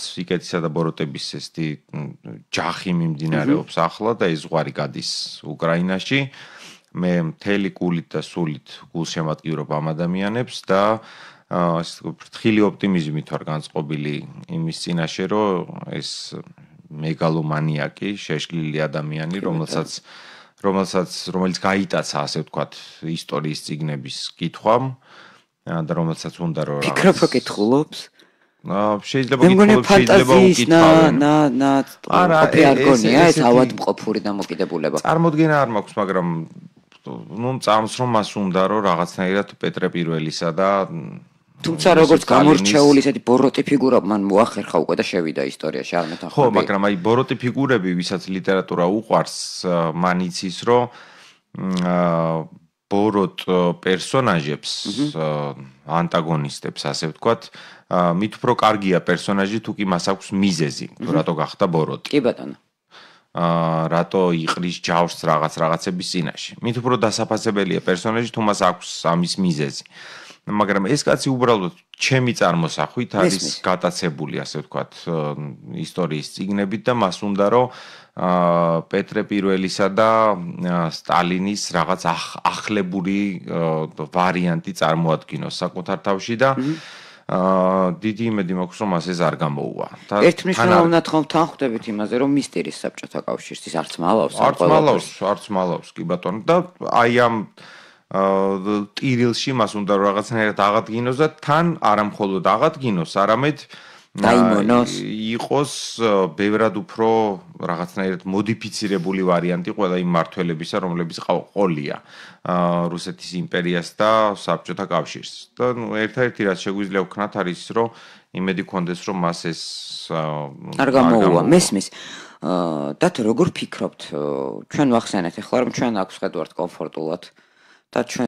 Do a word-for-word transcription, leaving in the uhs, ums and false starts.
სიკეთისა და ბოროტების ესეთი ჯახი მიმდინარეობს ახლა და ეს ზღვარი გადის უკრაინაში. მე მთელი გულით და სულით გულშემატკივრობ ამ ადამიანებს და ასე ფრთხილი ოპტიმიზმით ვარ განწყობილი იმის წინაშე, რომ ეს მეგალომანიაკი, შეშლილი ადამიანი, რომელსაც რომელსაც რომელიც გაიტაცა, ასე ვთქვათ, ისტორიის წიგნების კითხვამ და რომელსაც უნდა რომ რაღაც ფიქრობ რომ კითხულობს? შეიძლება კითხულობს, შეიძლება უკითხავენ. ნა ნა არა, არ გონია ეს ავადმყოფური დამოკიდებულება. წარმოდგენა არ მაქვს, მაგრამ ნუ წამს რომ მას უნდა რომ რაღაცნაირად პეტრე პირველისა და თუმცა როგორც გამორჩეული ესეთი ბოროტი ფიგურა მან მოახერხა უკვე და შევიდა ისტორიაში არ მეთანხმები. ხო, მაგრამ აი ბოროტი ფიგურები, ვისაც ლიტერატურა უყვარს, მან იცის რომ ბოროტ პერსონაჟებს, ანტაგონისტებს, ასე ვთქვათ, მით უფრო კარგია პერსონაჟი თუ კი მას აქვს მიზეზი, რატო გახდა ბოროტი. კი ბატონო. აა რატო იყრის ჯავს რაღაც რაღაცების წინაშე. მით უფრო დასაფასებელია პერსონაჟი თუ მას აქვს ამის მიზეზი. მაგრამ ეს კაცი უბრალოდ ჩემი წარმოსახვით არის გატაცებული, ასე ვთქვათ, ისტორიის წიგნებით და მას უნდა რომ პეტრე პირველისა და სტალინის რაღაც ახლებური ვარიანტი წარმოადგინოს საკუთარ თავში და აა დიდი იმედი მაქვს რომ მას ეს არ გამოუვა. ერთმნიშვნელოვნად ხომ თანხვდებით იმაზე რომ მისტერის საბჭოთა კავშირს ის არც მალავს არც მალავს, არც მალავს კი ბატონო და აი ამ ტირილში მას უნდა რომ რაღაცნაირად აღადგინოს და თან არა მხოლოდ აღადგინოს, არამედ დაიმონოს იყოს ბევრად უფრო რაღაცნაირად მოდიფიცირებული ვარიანტი ყველა იმ მართველებისა, რომლებიც ყოლია რუსეთის იმპერიას და საბჭოთა კავშირს. და ნუ ერთ-ერთი რაც შეგვიძლია ვქნათ არის ის, რომ იმედი გქონდეს, რომ მას ეს არ გამოუვა. მესმის დათო როგორ ფიქრობთ ჩვენ ვახსენეთ ახლა რომ ჩვენ აქ ვხედავთ კომფორტულად და ჩვენ